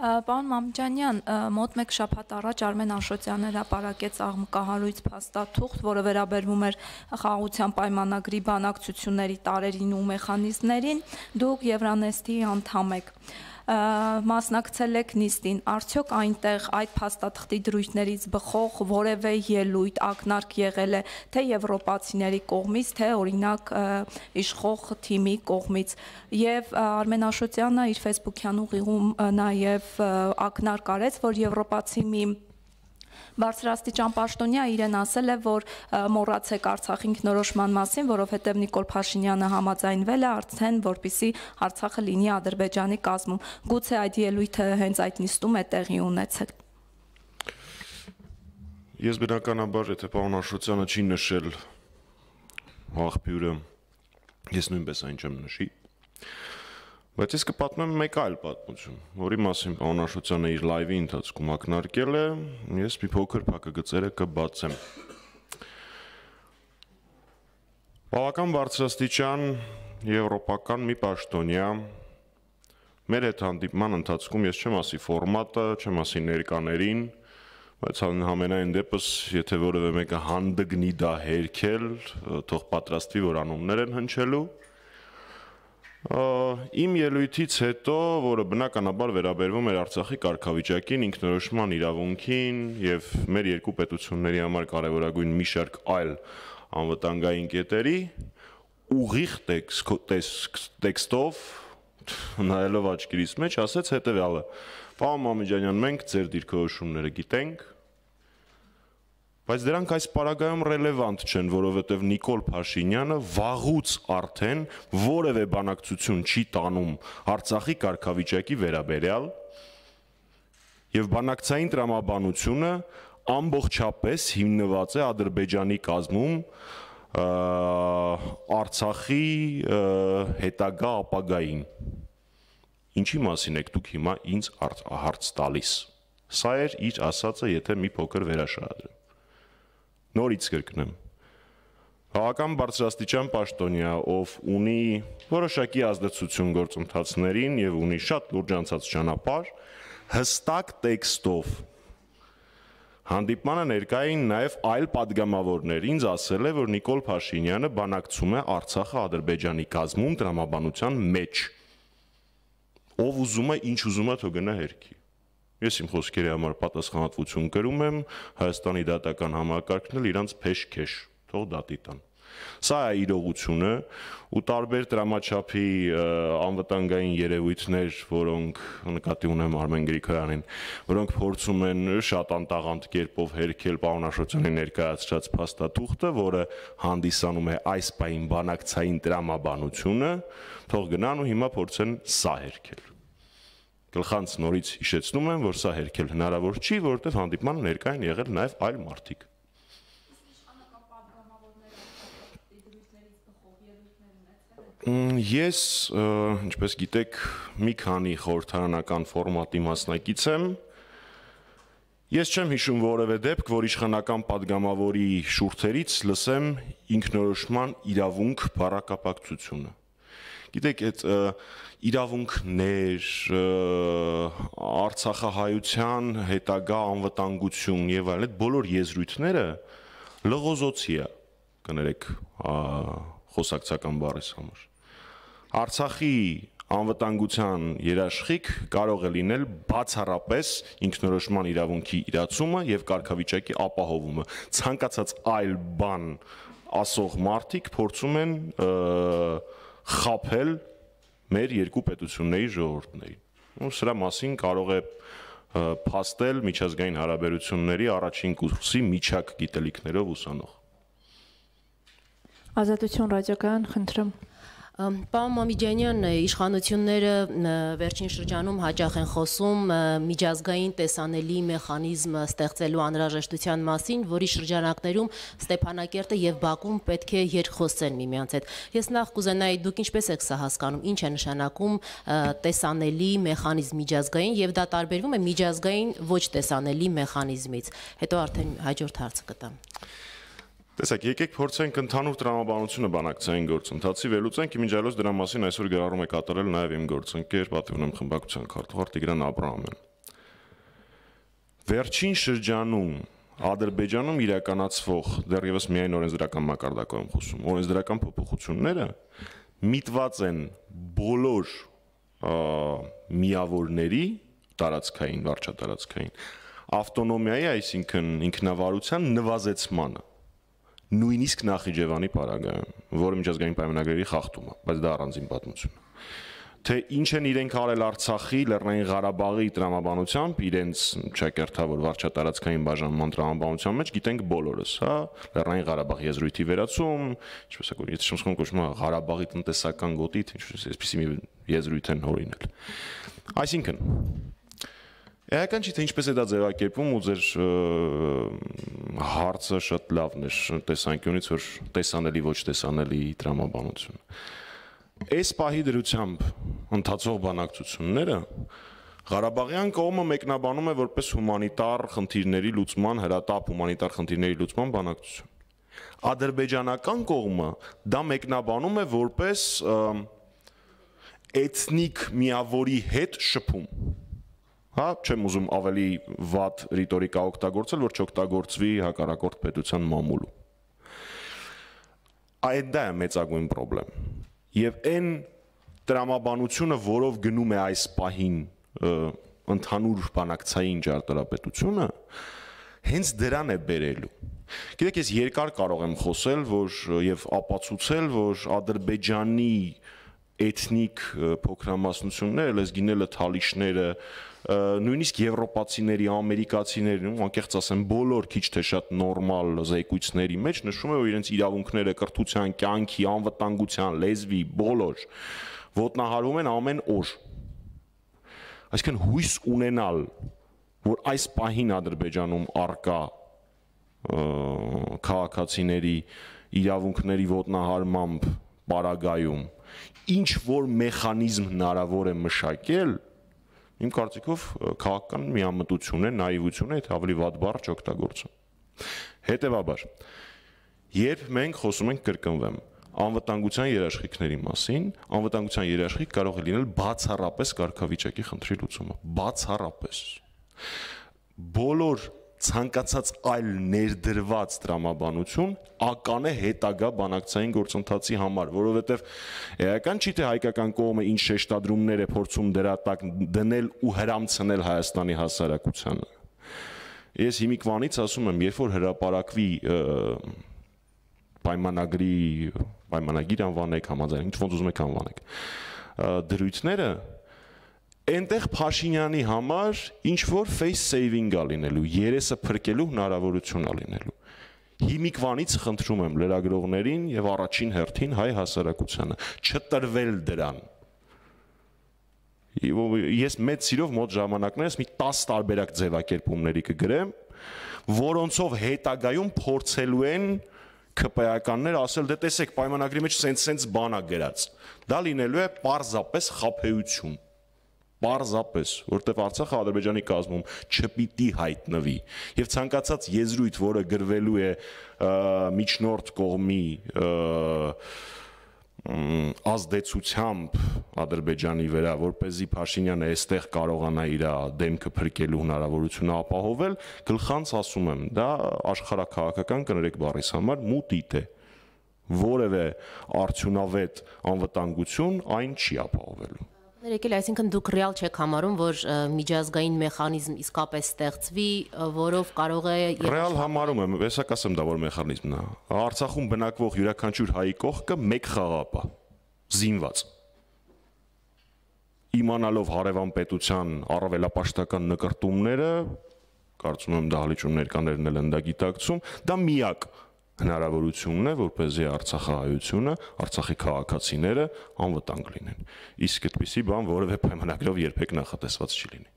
Պարոն Մամիջանյան, մոտ մեկ շաբաթ առաջ Արմեն Աշոտյանը հրապարակեց աղմկահարույց փաստաթուղթ, որը վերաբերվում էր խաղաղության պայմանագրի բանակցությունների տարերին ու մեխանիզմներին, դուք Euronest-ի անդամ եք, մասնակցել եք նիստին, արդյոք այնտեղ այդ փաստաթղթի դրույթներից բխող որևէ ելույթ ակնարկ եղել է թե եվրոպացիների կողմից, թե օրինակ իշխող թիմի կողմից, եւ Արմեն Աշոտյանը իր Facebook-յան ուղիղում նաեւ ակնարկ արեց, որ եվրոպացի մի բարձրաստիճան պաշտոնյա իրեն ասել է, որ մոռացեք Արցախի ինքնորոշման մասին, որովհետև Նիկոլ Փաշինյանը համաձայնվել է արդեն, որպեսզի Արցախը լինի Ադրբեջանի կազմում։ Գուցե այդ ելույթը հենց այդ նիստում է տեղի ունեցել։ Ես բնականաբար, եթե պարոն Աշոտյանը չի նշել աղբյուրը, ես նույնպես այն չեմ նշի։ Բայց ես կպատմեմ մեկ այլ պատմություն, որի մասին պարոն Աշոտյանը իր լայվի ընթացքում ակնարկել է, ես մի փոքր փակագծերը կբացեմ։ Բավական բարձրաստիճան եվրոպական մի պաշտոնյա մեր հետ հանդիպման ընթացքում, ես չեմ ասի ֆորմատը, չեմ ասի ներկաներին, բայց համենայն դեպս, եթե որևէ մեկը հանդգնի դա հերքել, թող պատրաստվի, որ անուններ են հնչելու։ Իմ ելույթից հետո, որը բնականաբար վերաբերվում էր Արցախի կարգավիճակին, ինքնորոշման իրավունքին եւ մեր երկու պետությունների համար կարեւորագույն մի շարք այլ անվտանգային կետերի, ուղիղ տեքստով, նայելով աչքերիս մեջ, ասեց հետեւյալը. «Պարոն Մամիջանյան, մենք ձեր դիրքորոշումները գիտենք, բայց դրանք այս պարագայում ռելևանտ չեն, որովհետև Նիկոլ Փաշինյանը վաղուց արդեն որևէ բանակցություն չի տանում Արցախի կարգավիճակի վերաբերյալ եւ բանակցային տրամաբանությունը ամբողջապես հիմնված է Ադրբեջանի կազմում Արցախի հետագա ապագային։ Ինչի մասին եք դուք հիմա ինձ հարց տալիս»։ Սա էր իր ասածը, եթե մի փոքր վերաշարադրեմ։ Նորից կրկնեմ, բավական բարձրաստիճան պաշտոնյա, ով ունի որոշակի ազդեցություն գործընթացներին եւ ունի շատ լուրջ անցած ճանապարհ, հստակ տեքստով հանդիպմանը ներկա էին նաեւ այլ падգամավորներ, ինձ ասել է, որ Նիկոլ Փաշինյանը բանակցում է Արցախը Ադրբեջանի կազմում տրամաբանության մեջ, ով ուզում է, ինչ ուզում է, թող գնա հերքի։ Ես իմ խոսքերի համար պատասխանատվություն կրում եմ, Հայաստանի դատական համակարգն էլ իրանց փեշ-քեշ, թող դատի տան։ Սա է իրողությունը, ու տարբեր տրամաչափի անվտանգային երևույթներ, որոնք նկատի ունեմ Արմեն Գրիգորյանին, որոնք փորձում են շատ անտաղանդ կերպով հերքել պարոն Աշոտյանի ներկայացրած փաստաթուղթը, որը հանդիսանում է այս պահին բանակցային տրամաբանությունը, թող գնան ու հիմա փորձեն սա հերքել։ Գլխանց նորից հիշեցնում եմ, որ սա հերքել հնարավոր չի, որովհետև հանդիպմանը ներկա են եղել նաև այլ մարդիկ։ Ես, ինչպես գիտեք, մի քանի խորհրդարանական ֆորմատի մասնակից եմ։ Ես չեմ հիշում որևէ դեպք, որ իշխանական падգամավորի շուրթերից լսեմ ինքնորոշման իրավունք բառակապակցությունը։ Գիտեք, այդ իրավունքներ, արցախահայության հետագա անվտանգություն եւ այլն, այդ բոլոր եզրույթները լղոզոցի է, կներեք խոսակցական բառից համար։ Արցախի անվտանգության երաշխիք կարող է լինել բացառապես ինքնորոշման իրավունքի իրացումը եւ կարգավիճակի ապահովումը։ Ցանկացած այլ բան ասող մարդիկ փորձում են խաբել մեր երկու պետությունների ժողովուրդներին։ Ու սրա մասին կարող է փաստել միջազգային հարաբերությունների առաջին կուրսի միջակ գիտելիքներով ուսանող։ Ազատություն ռադիոկայան, խնդրեմ։ Պարոն Մամիջանյան, իշխանությունները վերջին շրջանում հաճախ են խոսում միջազգային տեսանելի մեխանիզմ ստեղծելու անհրաժեշտության մասին, որի շրջանակներում Ստեփանակերտը եւ Բաքուն պետք է երկխոսեն միմյանց հետ։ Ես նախ կուզենայի դուք ինչպես եք սա հասկանում, ինչ է նշանակում տեսանելի մեխանիզմ միջազգային եւ դա տարբերվում է միջազգային ոչ տեսանելի մեխանիզմից։ Հետո արդեն հաջորդ հարցը կտամ։ Տեսեք, եկեք փորձենք ընդհանուր տրամաբանությունը բանակցային գործընթացի վերլուծենք, իմիջիայլոց դրա մասին այսօր գրառում է կատարել նաև իմ գործընկեր, պատիվ ունեմ խմբակցության քարտուղար Տիգրան Աբրահամյան։ Վերջին շրջանում Ադրբեջանում իրականացվող դեռևս միայն օրենսդրական մակարդակով եմ խոսում, օրենսդրական փոփոխությունները միտված են բոլոր միավորների տարածքային, վարչատարածքային ավտոնոմիայի, այսինքն ինքնավարության նվազեցմանը, նույնիսկ Նախիջևանի պարագայում, որը միջազգային պայմանագրերի խախտում է, բայց դա առանձին պատմություն է։ Թե ինչ են իրենք արել Արցախի, Լեռնային Ղարաբաղի տրամաբանությամբ, իրենց ճակերտավոր վարչատարածքային բաժանման տրամաբանության մեջ գիտենք բոլորս, հա, Լեռնային Ղարաբաղ եզրույթի վերացում, ինչպես է եթե շփոթվում կոչվում է Ղարաբաղի տնտեսական գոտի, այսպեսի մի եզրույթ են հորինել։ Այսինքն, էական չի թե ինչպես է դա ձևակերպում ու ձեր հարցը շատ լավն է տեսանկյունից, որ տեսանելի ոչ տեսանելի տրամաբանություն։ Այս պահի դրությամբ ընթացող բանակցությունները Ղարաբաղյան կողմը մեկնաբանում է որպես հումանիտար խնդիրների լուծման, հրատապ հումանիտար խնդիրների լուծման բանակցություն։ Ադրբեջանական կողմը դա մեկնաբանում է որպես էթնիկ միավորի հետ շփում։ Հա, չեմ ուզում ավելի վատ ռիտորիկա օգտագործել, որ չօգտագործվի հակառակորդ պետության մամուլում։ Այդ դա է մեծագույն խնդրեմ։ Եվ այն տրամաբանությունը, որով գնում է այս պահին ընդհանուր բանակցային ճարտարապետությունը, հենց դրան է բերելու։ Գիտեք, ես երկար կարող եմ խոսել, որ եւ ապացուցել, որ Ադրբեջանի էթնիկ փոքրամասնությունները, լեզգիները, թալիշները, նույնիսկ եվրոպացիների, ամերիկացիների, անկեղծ ասեմ, բոլոր քիչ թե շատ նորմալ զեկույցների մեջ նշում է, որ իրենց իրավունքները կրթության, կյանքի, անվտանգության, լեզվի, բոլոր ոտնահարվում են ամեն օր։ Այսինքն հույս ունենալ, որ այս պահին Ադրբեջանում արկա քաղաքացիների իրավունքների ոտնահարմամբ պարագայում ինչ որ մեխանիզմ հնարավոր է մշակել, իմ կարծիքով քաղաքական միամտություն է, նաիվություն է, եթե ավելի վատ բառ չօգտագործեմ։ Հետևաբար, երբ մենք խոսում ենք կրկնվեմ անվտանգության երաշխիքների մասին, անվտանգության երաշխիք կարող է լինել բացառապես կարգավիճակի խնդրի լուծումը, բացառապես։ Բոլոր ցանկացած այլ ներդրված տրամաբանություն ական է հետագա բանակցային գործընթացի համար, որովհետև էական չի թե հայկական կողմը ինչ շեշտադրումներ է փորձում դրա տակ դնել ու հրամցնել Հայաստանի հասարակությանը։ Ես հիմիկվանից ասում եմ, երբ որ հրապարակվի պայմանագիր անվանեք, համաձայն, ինչ ոնց ուզում եք անվանեք, դրույթները այնտեղ Փաշինյանի համար ինչ որ face saving է լինելու, երեսը փրկելու հնարավորություն է լինելու։ Հիմիկվանից խնդրում եմ լրագրողներին եւ առաջին հերթին հայ հասարակությանը չտրվել դրան։ Ես մեծ սիրով մոտ ժամանակներս մի 10 տարբերակ ձևակերպումների կգրեմ, որոնցով հետագայում փորձելու են ԿՊԱ-ականներ ասել, դե տեսեք, պայմանագրի մեջ սենց բան է գրած։ Դա լինելու է պարզապես խաբեություն։ Պարզապես, որտեղ Արցախը Ադրբեջանի կազմում չպիտի հայտնվի եւ ցանկացած եզրույթ, որը գրվելու է միջնորդ կողմի ազդեցությամբ Ադրբեջանի վրա, որպեսզի Փաշինյանը այստեղ կարողանա իր դեմքը փրկելու հնարավորությունը ապահովել, գլխանց ասում եմ, դա աշխարհաքաղաքական կներեք բառիս համար մուտիտ է, որևէ արդյունավետ անվտանգություն այն չի ապահովելու։ Ներեկել, այսինքն դուք ռեալ չեք համարում, որ միջազգային մեխանիզմ իսկապես ստեղծվի, որով կարող է Ռեալ համարում եմ, հեսա կասեմ դա որ մեխանիզմն է։ Արցախում բնակվող յուրաքանչյուր հայի կողքը մեկ խաղապ է, զինված։ Իմանալով հարևան պետության առավելապաշտական նկրտումները, կարծում եմ դահլիճում ներկաներն էլ են դա գիտակցում, դա միակ հնարավորությունն է, որպեսզի Արցախահայությունը, Արցախի քաղաքացիները անվտանգ լինեն։ Իսկ այդպիսի բան որևէ պայմանագրով երբեք նախատեսված չի լինի։